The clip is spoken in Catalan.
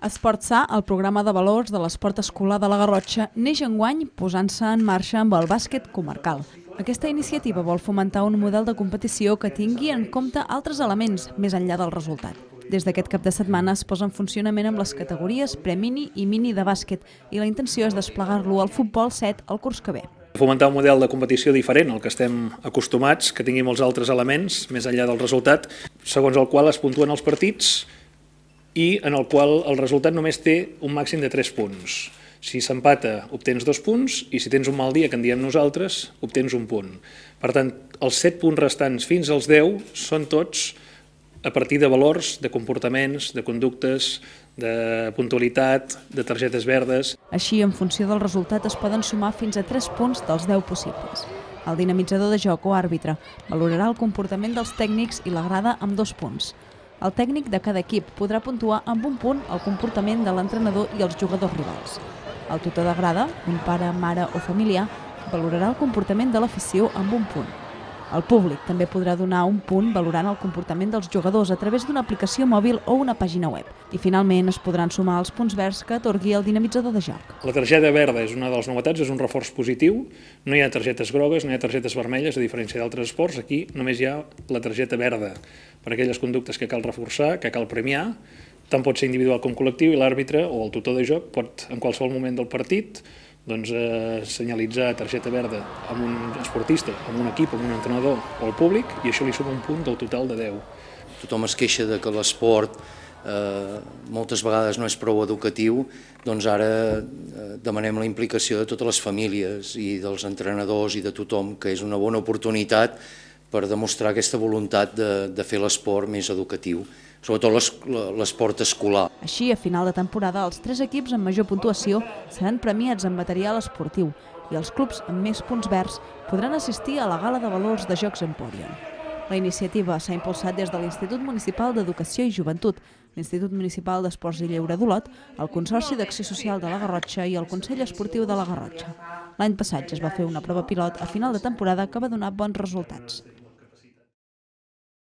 Esport Sa, el programa de valors de l'esport escolar de la Garrotxa, neix enguany posant-se en marxa amb el bàsquet comarcal. Aquesta iniciativa vol fomentar un model de competició que tingui en compte altres elements més enllà del resultat. Des d'aquest cap de setmana es posa en funcionament amb les categories pre-mini i mini de bàsquet i la intenció és desplegar-lo al futbol 7 el curs que ve. Fomentar un model de competició diferent al que estem acostumats, que tingui molts altres elements més enllà del resultat, segons el qual es puntuen els partits i en el qual el resultat només té un màxim de 3 punts. Si s'empata, obtens 2 punts, i si tens un mal dia, que en diem nosaltres, obtens 1 punt. Per tant, els 7 punts restants fins als 10 són tots a partir de valors, de comportaments, de conductes, de puntualitat, de targetes verdes. Així, en funció del resultat, es poden sumar fins a 3 punts dels 10 possibles. El dinamitzador de joc o àrbitre valorarà el comportament dels tècnics i la grada amb 2 punts. El tècnic de cada equip podrà puntuar amb 1 punt el comportament de l'entrenador i els jugadors rivals. El tutor de grada, un pare, mare o familiar, valorarà el comportament de l'afició amb 1 punt. El públic també podrà donar 1 punt valorant el comportament dels jugadors a través d'una aplicació mòbil o una pàgina web. I finalment es podran sumar els punts verds que atorgui el dinamitzador de joc. La targeta verda és una de les novetats, és un reforç positiu. No hi ha targetes grogues, no hi ha targetes vermelles, a diferència d'altres esports. Aquí només hi ha la targeta verda per aquelles conductes que cal reforçar, que cal premiar. Tant pot ser individual com col·lectiu, i l'àrbitre o el tutor de joc pot, en qualsevol moment del partit, senyalitzar targeta verda amb un esportista, amb un equip, amb un entrenador o al públic, i això li suma 1 punt del total de 10. Tothom es queixa de que l'esport moltes vegades no és prou educatiu, doncs ara demanem la implicació de totes les famílies i dels entrenadors i de tothom, que és una bona oportunitat per demostrar aquesta voluntat de fer l'esport més educatiu, sobretot l'esport escolar. Així, a final de temporada, els 3 equips amb major puntuació seran premiats en material esportiu i els clubs amb més punts verds podran assistir a la gala de valors de Jocs Emporion. La iniciativa s'ha impulsat des de l'Institut Municipal d'Educació i Joventut, l'Institut Municipal d'Esports i Lleure d'Olot, el Consorci d'Acció Social de la Garrotxa i el Consell Esportiu de la Garrotxa. L'any passat ja es va fer una prova pilot a final de temporada que va donar bons resultats.